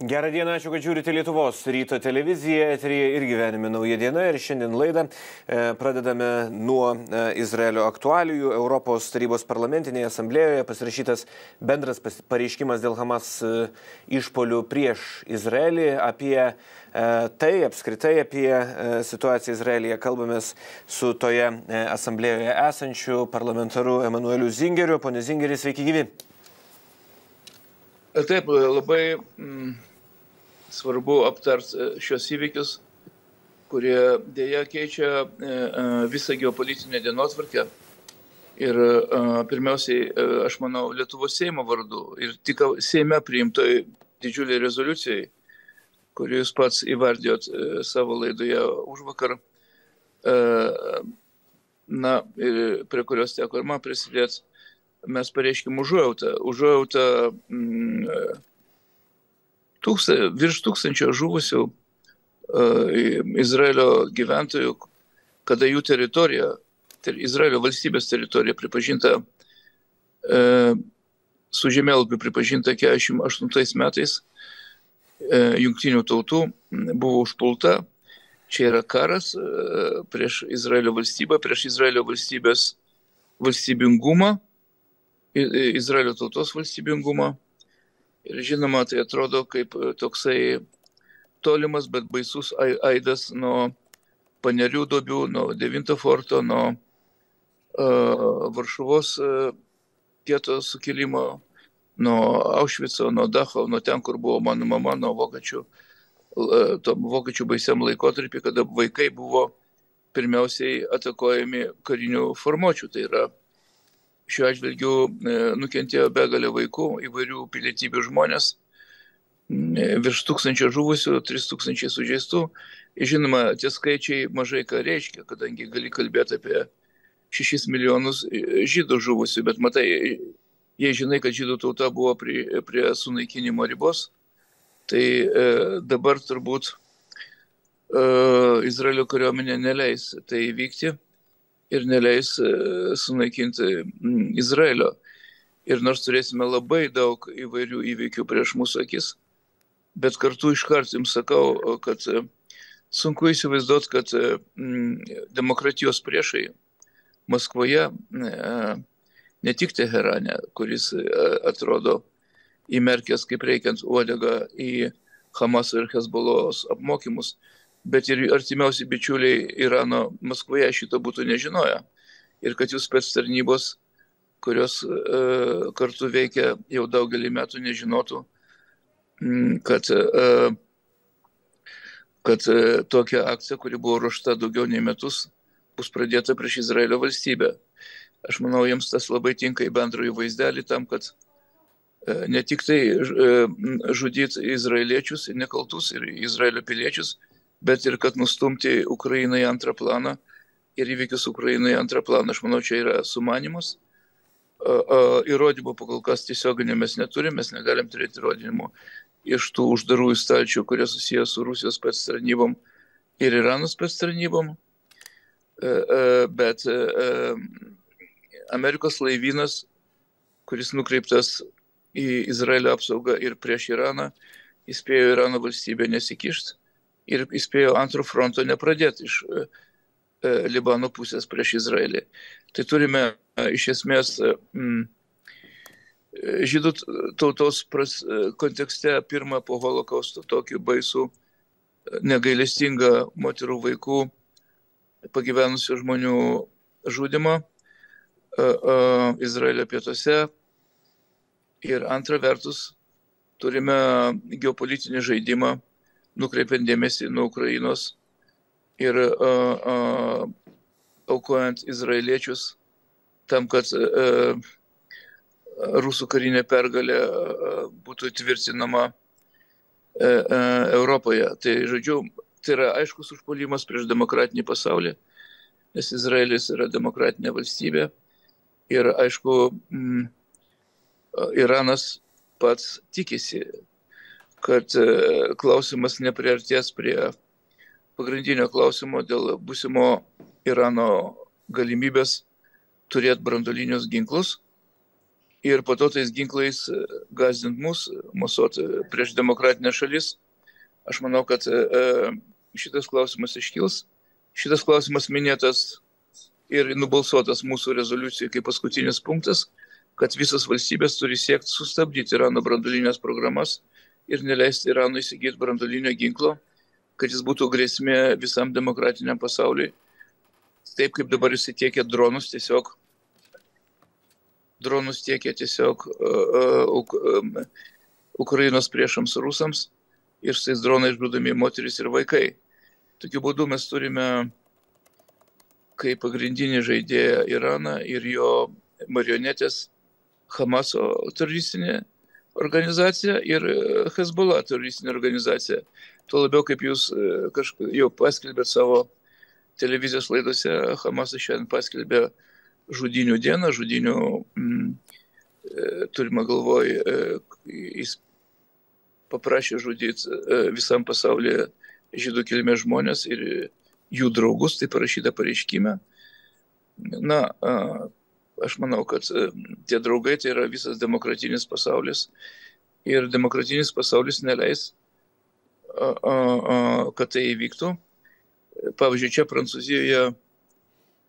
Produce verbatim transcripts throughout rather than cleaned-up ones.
Gerą dieną, ačiū, kad žiūrite Lietuvos ryto televiziją, eteryje ir gyvenime nauja diena. Ir šiandien laidą e, pradedame nuo e, Izraelio aktualijų. Europos tarybos parlamentinėje asamblėjoje pasirašytas bendras pareiškimas dėl Hamas e, išpolių prieš Izraelį. Apie e, tai, apskritai apie e, situaciją Izraelyje kalbamės su toje e, asamblėjoje esančiu parlamentaru Emanueliu Zingeriu. Pone Zingeri, sveiki gyvi. Taip, labai mm, svarbu aptart šios įvykius, kurie dėja keičia e, visą geopolitinę dienotvarkę. Ir e, pirmiausiai, e, aš manau, Lietuvos Seimo vardu ir tik Seime priimtoj didžiuliai rezoliucijai, kurį jūs pats įvardijot e, savo laidoje užvakar, e, na, ir prie kurios teko ir man prisidėti, mes pareiškim užuojautą. Užuojautą mm, tūksta, virš tūkstančio žuvusių uh, Izraelio gyventojų, kada jų teritorija, ter, Izraelio valstybės teritorija pripažinta, uh, su žemėlapiu pripažinta keturiasdešimt aštuntais metais uh, jungtinių tautų buvo užpulta. Čia yra karas uh, prieš Izraelio valstybę, prieš Izraelio valstybės valstybingumą, Izraelio tautos valstybingumą. Ir žinoma, tai atrodo kaip toksai tolimas, bet baisus aidas nuo Panerių duobių, nuo devinto forto, nuo uh, Varšuvos uh, geto sukilimo, nuo Aušvico, nuo Dachau, nuo ten, kur buvo mano mama, nuo vokiečių, uh, tom vokiečių baisiam laikotarpį, kada vaikai buvo pirmiausiai atakuojami karinių formuočių. Tai yra šiuo atžvilgiu nukentėjo begalė vaikų, įvairių pilietybių žmonės, virš tūkstančio žuvusių, tris tūkstančiai sužeistų. Žinoma, tie skaičiai mažai ką reiškia, kadangi gali kalbėti apie šešis milijonus žydų žuvusių, bet matai, jei žinai, kad žydų tauta buvo prie, prie sunaikinimo ribos, tai e, dabar turbūt e, Izraelio kariuomenė neleis tai vykti ir neleis sunaikinti Izraelio. Ir nors turėsime labai daug įvairių įvykių prieš mūsų akis, bet kartu iškart jums sakau, kad sunku įsivaizduoti, kad demokratijos priešai Maskvoje, ne tik Teherane, kuris atrodo įmerkęs kaip reikiant uodegą į Hamas ir Hezbollos apmokymus, bet ir artimiausi bičiuliai Irano Maskvoje šito būtų nežinoję. Ir kad jūs spec tarnybos, kurios e, kartu veikia jau daugelį metų, nežinotų, kad, e, kad e, tokia akcija, kuri buvo ruošta daugiau nei metus, bus pradėta prieš Izraelio valstybę. Aš manau, jiems tas labai tinka į bendrąjį vaizdelį tam, kad e, ne tik tai e, žudyti izraeliečius, nekaltus ir Izraelio piliečius, bet ir kad nustumti Ukrainą į antrą planą ir įvykius Ukrainą į antrą planą. Aš manau, čia yra sumanymas. Įrodymų pakol kas tiesioginio mes neturime, mes negalim turėti įrodymų iš tų uždarųjų stalčių, kurie susijęs su Rusijos spec tarnybom ir Irano spec tarnybom. Bet Amerikos laivynas, kuris nukreiptas į Izraelio apsaugą ir prieš Iraną, įspėjo Irano valstybę nesikišti. Ir įspėjo antro fronto nepradėti iš e, Libano pusės prieš Izraelį. Tai turime e, iš esmės m, žydų tautos pras, e, kontekste pirmą po holokausto tokį baisų, negailestingą moterų vaikų, pagyvenusių žmonių žudimą e, e, Izraelio pietuose. Ir antra vertus turime geopolitinį žaidimą, nukreipiant dėmesį nuo Ukrainos ir uh, uh, aukojant izraeliečius tam, kad uh, rusų karinė pergalė uh, būtų tvirtinama uh, uh, Europoje. Tai, žodžiu, tai yra aiškus užpuolimas prieš demokratinį pasaulį, nes Izraelis yra demokratinė valstybė ir, aišku, mm, Iranas pats tikisi, kad klausimas nepriartės prie pagrindinio klausimo dėl būsimo Irano galimybės turėti branduolinius ginklus ir po to tais ginklais gazdint mus, mosuot prieš demokratinę šalis. Aš manau, kad šitas klausimas iškils. Šitas klausimas minėtas ir nubalsuotas mūsų rezoliucijai kaip paskutinis punktas, kad visas valstybės turi siekti sustabdyti Irano branduolinės programas ir neleisti Iranui įsigyti branduolinio ginklo, kad jis būtų grėsmė visam demokratiniam pasauliui. Taip kaip dabar jis tiekia dronus, tiesiog dronus tiekia tiesiog uh, uh, Ukrainos priešams rusams ir su tais dronais žudomi moteris ir vaikai. Tokiu būdu mes turime kaip pagrindinį žaidėją Iraną ir jo marionetės Hamaso teroristinė organizacija ir Hezbollah teroristinė organizacija. Tuo labiau, kaip jūs kažkaip jau paskelbėt savo televizijos laidose, Hamasas šiandien paskelbė žudinių dieną, žudinių, mm, turime galvoj, jis paprašė žudyti visam pasaulyje žydų kilmės žmonės ir jų draugus, tai parašyta pareiškime. Na, aš manau, kad tie draugai tai yra visas demokratinis pasaulis ir demokratinis pasaulis neleis, kad tai įvyktų. Pavyzdžiui, čia Prancūzijoje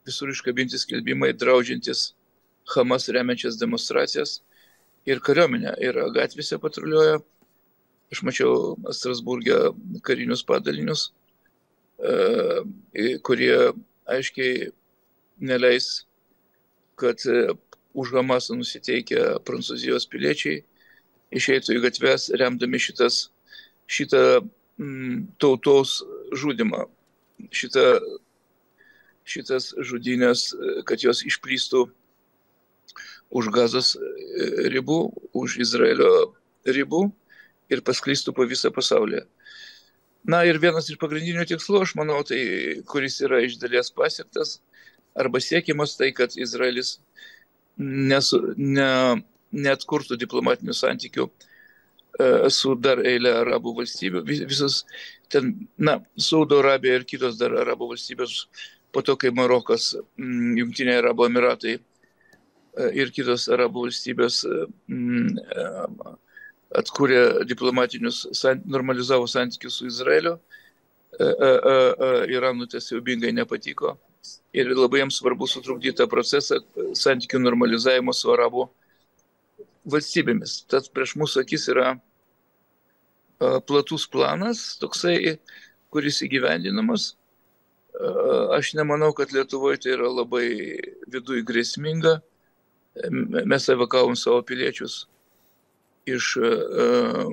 visur iškabinti skelbimai draudžiantis Hamas remiančias demonstracijas ir kariuomenė yra gatvėse patruliuoja. Aš mačiau Strasburge karinius padalinius, kurie aiškiai neleis, kad už Hamasą nusiteikę Prancūzijos piliečiai išeitų į gatves, remdami šitas, šitą mm, tautos žudimą, šitą, šitas žudynės, kad jos išplystų už Gazos ribų, už Izraelio ribų ir pasklistų po visą pasaulį. Na ir vienas iš pagrindinių tikslų, aš manau, tai kuris yra iš dalies pasiektas, arba siekiamas tai, kad Izraelis nesu, ne, neatkurtų diplomatinių santykių e, su dar eilė arabų valstybių. Visas ten, na, Saudo Arabija ir kitos dar arabų valstybės, po to, kai Marokas, m, Jungtiniai Arabų Emiratai e, ir kitos arabų valstybės m, e, atkūrė diplomatinius, normalizavo santykius su Izraeliu. Iranui tas siaubingai nepatiko ir labai jiems svarbu sutrukdyti tą procesą santykių normalizavimo su arabų valstybėmis. Tad prieš mūsų akis yra platus planas, toksai, kuris įgyvendinamas. Aš nemanau, kad Lietuvoje tai yra labai viduj grėsminga. Mes evakavom savo piliečius iš uh, uh,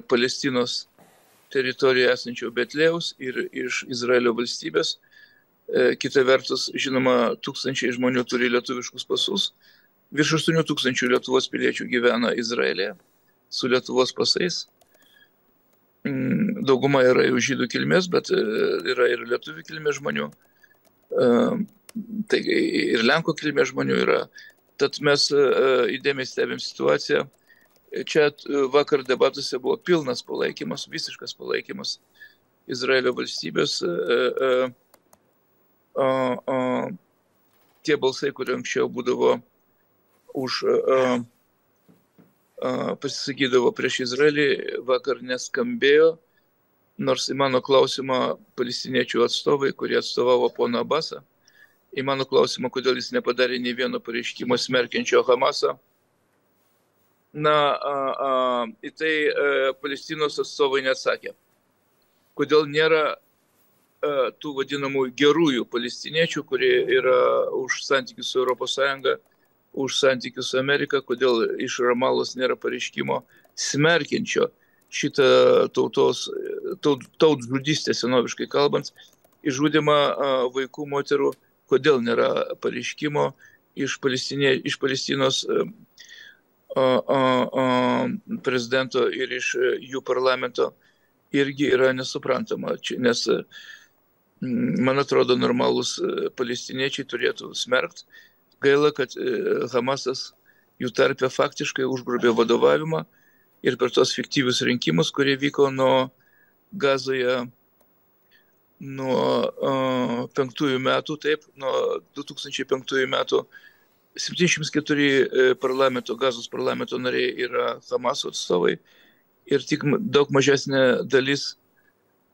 Palestinos teritorijoje esančio Betlėjaus ir iš Izraelio valstybės. Uh, kita vertus, žinoma, tūkstančiai žmonių turi lietuviškus pasus. Virš aštuonių tūkstančių Lietuvos piliečių gyvena Izraelėje su Lietuvos pasais. Um, dauguma yra jau žydų kilmės, bet uh, yra ir lietuvių kilmės žmonių. Uh, tai ir Lenkų kilmės žmonių yra. Tad mes uh, įdėmiai stebėm situaciją. Čia uh, vakar debatuose buvo pilnas palaikymas, visiškas palaikymas Izraelio valstybės. Uh, uh, uh, uh, tie balsai, kurie anksčiau būdavo už, uh, uh, pasisakydavo prieš Izraelį, vakar neskambėjo, nors į mano klausimą palestiniečių atstovai, kurie atstovavo poną Abasą, į mano klausimą, kodėl jis nepadarė nei vieno pareiškimo smerkiančio Hamasą. Na, a, a, į tai a, Palestinos atstovai neatsakė. Kodėl nėra a, tų vadinamų gerųjų palestiniečių, kurie yra už santykius su Europos Sąjunga, už santykius su Amerika, kodėl iš Ramalos nėra pareiškimo smerkiančio šitą tautos, taut, tautžudystę senoviškai kalbant, išžudimą a, vaikų, moterų. Kodėl nėra pareiškimo iš, iš Palestinos a, a, a, prezidento ir iš jų parlamento, irgi yra nesuprantama. Nes, man atrodo, normalūs palestiniečiai turėtų smerkti. Gaila, kad Hamasas jų tarpe faktiškai užgrobė vadovavimą ir per tos fiktyvius rinkimus, kurie vyko nuo Gazoje nuo uh, penktųjų metų, taip, nuo du tūkstančiai penktųjų metų septyniasdešimt keturi parlamento, Gazos parlamento nariai yra Hamaso atstovai ir tik daug mažesnė dalis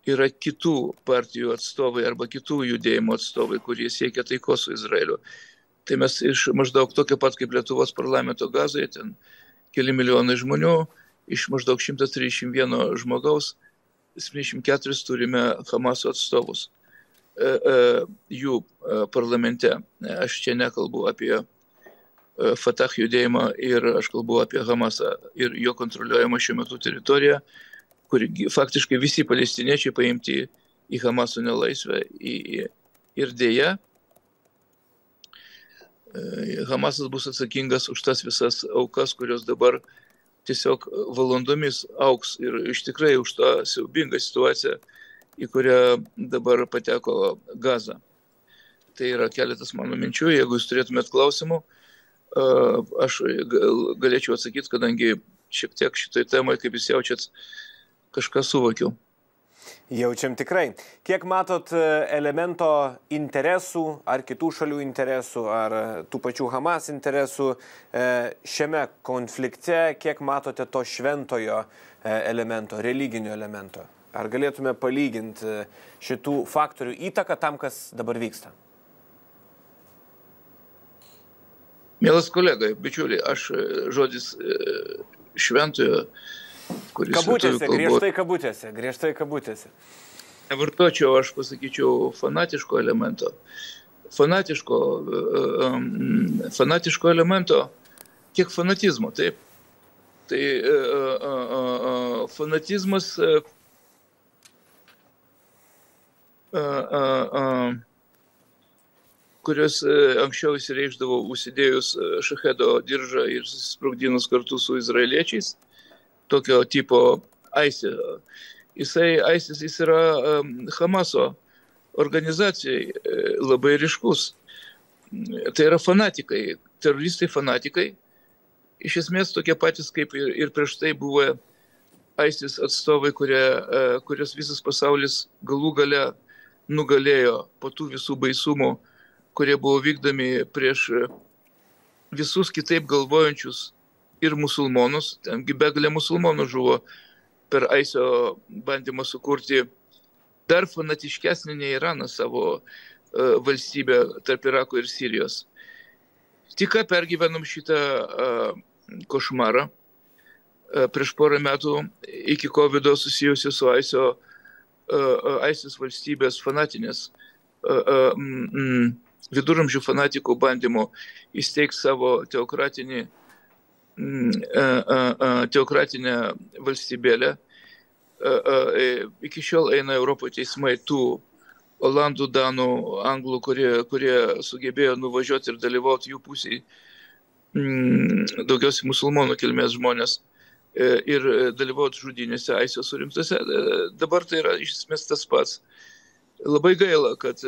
yra kitų partijų atstovai arba kitų judėjimų atstovai, kurie siekia taikos su Izraeliu. Tai mes iš maždaug tokio pat kaip Lietuvos parlamento Gazoje, ten keli milijonai žmonių, iš maždaug šimtas trisdešimt vieno žmogaus, septyniasdešimt keturis turime Hamaso atstovus. E, e, jų e, parlamente. Aš čia nekalbu apie e, Fatah judėjimą ir aš kalbu apie Hamasą ir jo kontroliuojamą šiuo metu teritoriją, kur faktiškai visi palestiniečiai paimti į Hamaso nelaisvę. Į, ir dėja, e, Hamasas bus atsakingas už tas visas aukas, kurios dabar tiesiog valandomis auks ir iš tikrai už tą siaubingą situaciją, į kurią dabar pateko Gaza. Tai yra keletas mano minčių. Jeigu jūs turėtumėt klausimų, aš galėčiau atsakyti, kadangi šiek tiek šitoj temai, kaip jūs jaučiat, kažką suvokiau. Jaučiam tikrai. Kiek matot elemento interesų, ar kitų šalių interesų, ar tų pačių Hamas interesų šiame konflikte, kiek matote to šventojo elemento, religinio elemento? Ar galėtume palyginti šitų faktorių įtaką tam, kas dabar vyksta? Mielas kolega, bičiuliai, aš žodis šventojo, kuris... Kabutėse, kalbos, griežtai kabutėse, griežtai kabutėse. Nevartočiau, aš pasakyčiau, fanatiško elemento. Fanatiško, fanatiško elemento, kiek fanatizmo, taip. Tai fanatizmas... kurios anksčiau įsireikšdavo užsidėjus šachedo diržą ir susisprogdinus kartu su izraeliečiais, tokio tipo ISIS. Jisai, ISIS jis yra Hamaso organizacijai labai ryškus. Tai yra fanatikai, teroristai fanatikai. Iš esmės tokie patys kaip ir, ir prieš tai buvo ISIS atstovai, kurie, kurios visas pasaulis galų gale nugalėjo po tų visų baisumų, kurie buvo vykdomi prieš visus kitaip galvojančius ir musulmonus. Tengi begalė musulmonų žuvo per ISISo bandymą sukurti dar fanatiškesnį nei Iranas savo uh, valstybę tarp Irako ir Sirijos. Tik ką pergyvenom šitą uh, košmarą uh, prieš porą metų iki kovido susijusi su ISISo ISIS valstybės fanatinės viduramžių fanatikų bandymų įsteigti savo teokratinį, teokratinę valstybėlę. Iki šiol eina Europoje teismai tų olandų, danų, anglų, kurie, kurie sugebėjo nuvažiuoti ir dalyvauti jų pusėje, daugiausiai musulmonų kilmės žmonės, ir dalyvauti žudynėse ISISo surimtose. Dabar tai yra iš esmės tas pats. Labai gaila, kad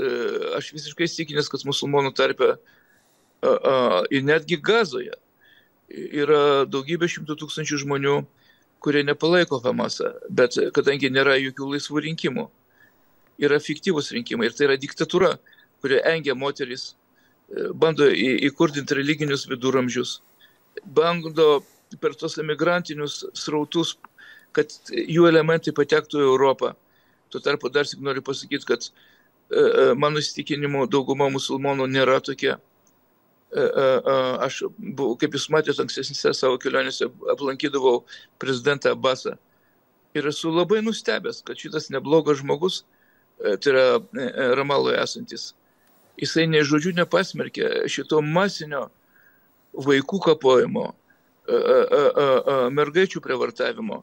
aš visiškai įsitikinęs, kad musulmonų tarpe ir netgi Gazoje yra daugybė šimtų tūkstančių žmonių, kurie nepalaiko Hamasą, bet kadangi nėra jokių laisvų rinkimų, yra fiktyvūs rinkimai ir tai yra diktatūra, kurie engia moteris, bando įkurdinti religinius viduramžius, bando per tos emigrantinius srautus, kad jų elementai patektų į Europą. Tuo tarpu dar tik noriu pasakyti, kad e, mano įsitikinimu dauguma musulmonų nėra tokie. E, e, aš, buvau, kaip jūs matėte, ankstesnėse savo kelionėse aplankydavau prezidentą Abbasą. Ir esu labai nustebęs, kad šitas neblogas žmogus, e, tai yra e, Ramaloje esantis, jisai nei žodžių nepasmerkė šito masinio vaikų kapojimo, mergaičių prievartavimo,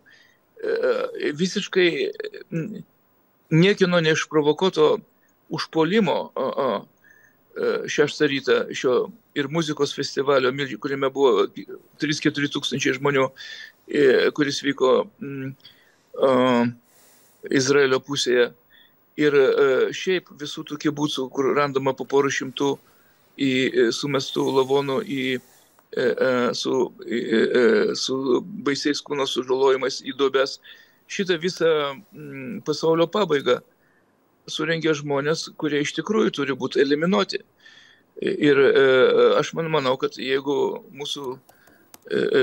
visiškai niekino neišprovokuoto užpuolimo šeštą rytą šio ir muzikos festivalio, kuriame buvo trys keturi tūkstančiai žmonių, kuris vyko Izraelio pusėje. Ir šiaip visų tų kibucų, kur randama po porų šimtų į sumestų lavonų į Su, su baisiais kūno sužalojimais į duobes. Šitą visą pasaulio pabaigą surengė žmonės, kurie iš tikrųjų turi būti eliminuoti. Ir aš man manau, kad jeigu mūsų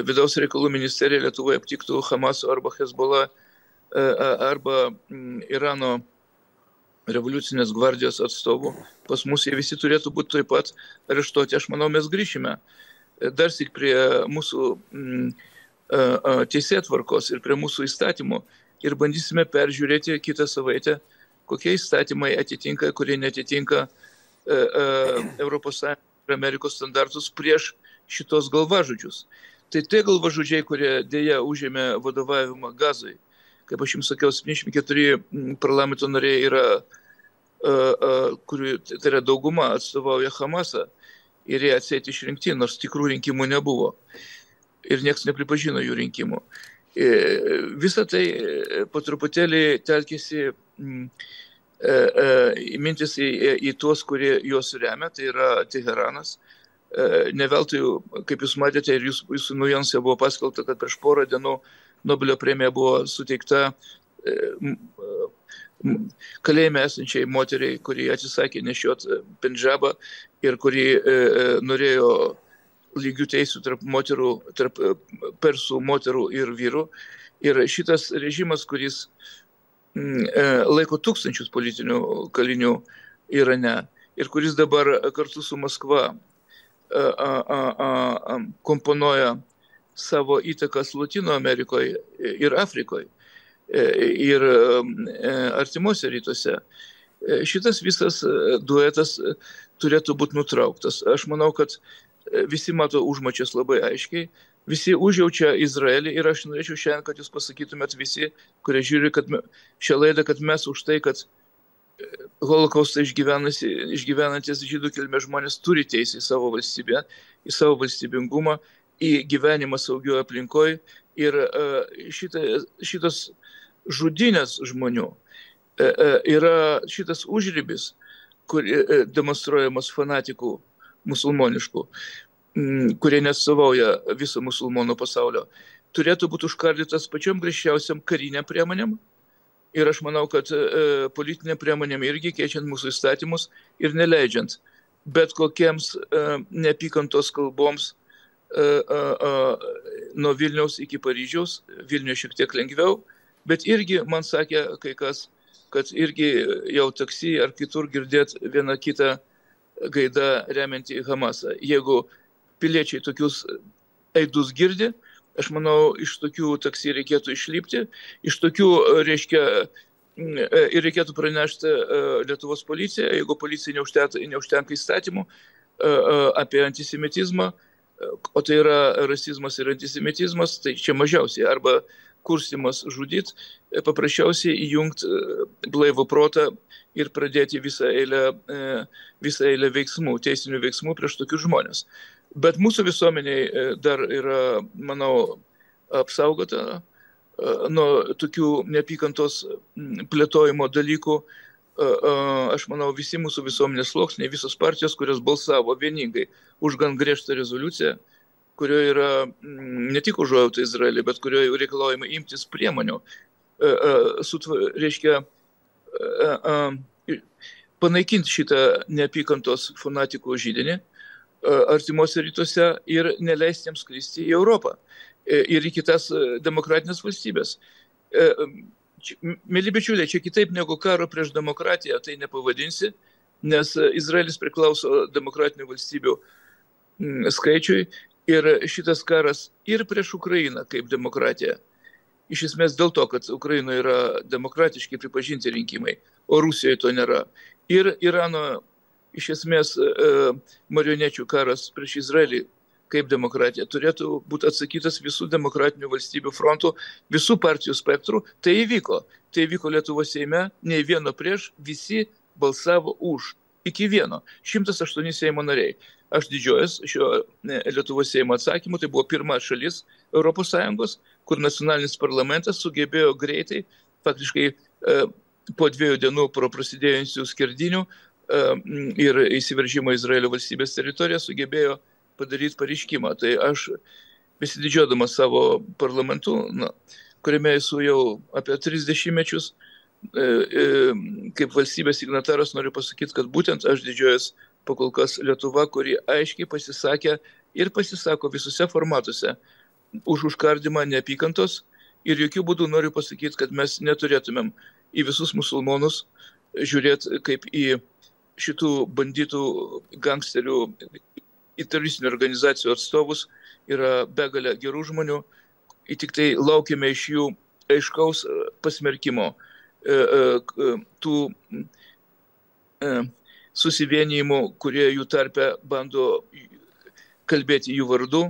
vidaus reikalų ministerija Lietuvoje aptiktų Hamaso arba Hezbollah arba Irano revoliucinės gvardijos atstovų, pas mus jie visi turėtų būti taip pat areštuoti. Aš manau, mes grįšime dar sik prie mūsų teisėtvarkos ir prie mūsų įstatymų ir bandysime peržiūrėti kitą savaitę, kokie įstatymai atitinka, kurie netitinka Europos Sąjungos ir Amerikos standartus prieš šitos galvažudžius. Tai tie galvažudžiai, kurie dėja užėmė vadovavimą Gazai, kaip aš jums sakiau, septyniasdešimt keturi parlamento nariai yra, kurių, tai yra dauguma, atstovauja Hamasą ir jie atseit išrinkti, nors tikrų rinkimų nebuvo. Ir nieks nepripažino jų rinkimų. Visą tai po truputėlį telkėsi mintis į, į tuos, kurie juos remia, tai yra Teheranas. Ne veltui, kaip jūs matėte, ir jūs, jūsų naujienose buvo paskelbta, kad prieš porą dienų Nobelio premija buvo suteikta kalėjime esančiai moteriai, kuri atsisakė nešiot pendžabą ir kuri norėjo lygių teisų tarp moterų, tarp persų moterų ir vyrų. Ir šitas režimas, kuris laiko tūkstančius politinių kalinių Irane ir kuris dabar kartu su Maskva komponuoja savo įtakas Latino Amerikoje ir Afrikoje ir artimuose rytuose. Šitas visas duetas turėtų būti nutrauktas. Aš manau, kad visi mato užmačias labai aiškiai, visi užjaučia Izraelį ir aš norėčiau šiandien, kad jūs pasakytumėt visi, kurie žiūri kad šią laidą, kad mes už tai, kad holokaustą išgyvenantis žydų kilmės žmonės turi teisę į savo valstybę, į savo valstybingumą, į gyvenimą saugioje aplinkoje ir šita, šitas žudynės žmonių yra šitas užribis, kur demonstruojamas fanatikų musulmoniškų, kurie neatstovauja viso musulmonų pasaulio, turėtų būti užkardytas pačiom griežčiausiam kariniam priemonėm. Ir aš manau, kad e, politinėm priemonėm irgi keičiant mūsų įstatymus ir neleidžiant bet kokiems e, neapykantos kalboms e, e, e, nuo Vilniaus iki Paryžiaus, Vilniuje šiek tiek lengviau, bet irgi man sakė kai kas, kad irgi jau taksi ar kitur girdėt vieną kitą gaidą remiantį Hamasą. Jeigu piliečiai tokius aidus girdi, aš manau, iš tokių taksi reikėtų išlipti, iš tokių, reiškia, ir reikėtų pranešti Lietuvos policiją, jeigu policija neužtenka, neužtenka įstatymų apie antisemitizmą, o tai yra rasizmas ir antisemitizmas, tai čia mažiausiai, arba kurstimas žudyt, paprasčiausiai įjungti blaivų protą ir pradėti visą eilę, visą eilę veiksmų, teisinių veiksmų prieš tokius žmonės. Bet mūsų visuomeniai dar yra, manau, apsaugota nuo tokių neapykantos plėtojimo dalykų. Aš manau, visi mūsų visuomenės sluoksniai, visos partijos, kurios balsavo vieningai už gan griežtą rezoliuciją, kurioje yra ne tik užuojauta Izraelį, bet kurioje reikalaujama imtis priemonių, reiškia, panaikinti šitą neapykantos fanatikų židinį artimuose rytuose ir neleisti jiems skristi į Europą ir į kitas demokratinės valstybės. Mėly bičiuliai, čia kitaip negu karo prieš demokratiją tai nepavadinsi, nes Izraelis priklauso demokratinių valstybių skaičiui ir šitas karas ir prieš Ukrainą kaip demokratiją. Iš esmės dėl to, kad Ukrainoje yra demokratiškai pripažinti rinkimai, o Rusijoje to nėra. Ir Irano iš esmės marionečių karas prieš Izraelį kaip demokratija turėtų būti atsakytas visų demokratinių valstybių frontų, visų partijų spektrų. Tai įvyko. Tai įvyko Lietuvos Seime, nei vieno prieš, visi balsavo už. Iki vieno. šimtas aštuoni Seimo nariai. Aš didžiuojas šio Lietuvos Seimo atsakymu. Tai buvo pirma šalis Europos Sąjungos, kur nacionalinis parlamentas sugebėjo greitai, faktiškai po dviejų dienų pro prasidėjusių skerdinių ir įsiveržimo Izraelio valstybės teritoriją sugebėjo padaryti pareiškimą. Tai aš, besididžiuodamas savo parlamentu, na, kuriame esu jau apie trisdešimt mečius, kaip valstybės signataras noriu pasakyti, kad būtent aš didžiuojas pakol kas Lietuva, kuri aiškiai pasisakė ir pasisako visose formatuose už užkardimą neapykantos. Ir jokių būdų noriu pasakyti, kad mes neturėtumėm į visus musulmonus žiūrėti kaip į šitų bandytų gangsterių, į teroristinių organizacijų atstovus. Yra begalė gerų žmonių, ir tik tai laukiame iš jų aiškaus pasmerkimo tų susivienijimų, kurie jų tarpe bando kalbėti jų vardu.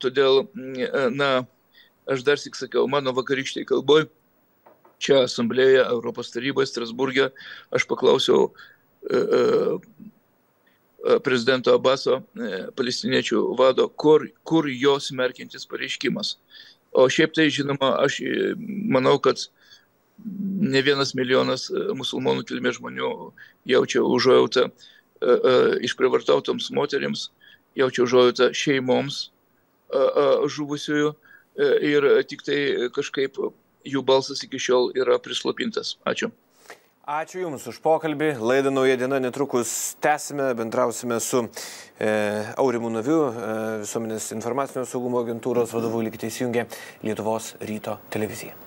Todėl, na, aš dar sik sakiau, mano vakarykštėj kalboj, čia asamblėje Europos taryboje Strasburge, aš paklausiau prezidento Abaso, palestiniečių vado, kur, kur jo smerkiantis pareiškimas. O šiaip tai, žinoma, aš manau, kad ne vienas milijonas musulmonų kilmės žmonių jaučia užuojautą išprievartautoms moterims, jaučia užuojautą šeimoms žuvusiųjų ir tik tai kažkaip jų balsas iki šiol yra prislopintas. Ačiū. Ačiū Jums už pokalbį. Laidą Nauja diena netrukus tęsime, bendrausime su e, Aurimu Naviu, e, Visuomenės informacinio saugumo agentūros vadovu. Likite įsijungę Lietuvos ryto televiziją.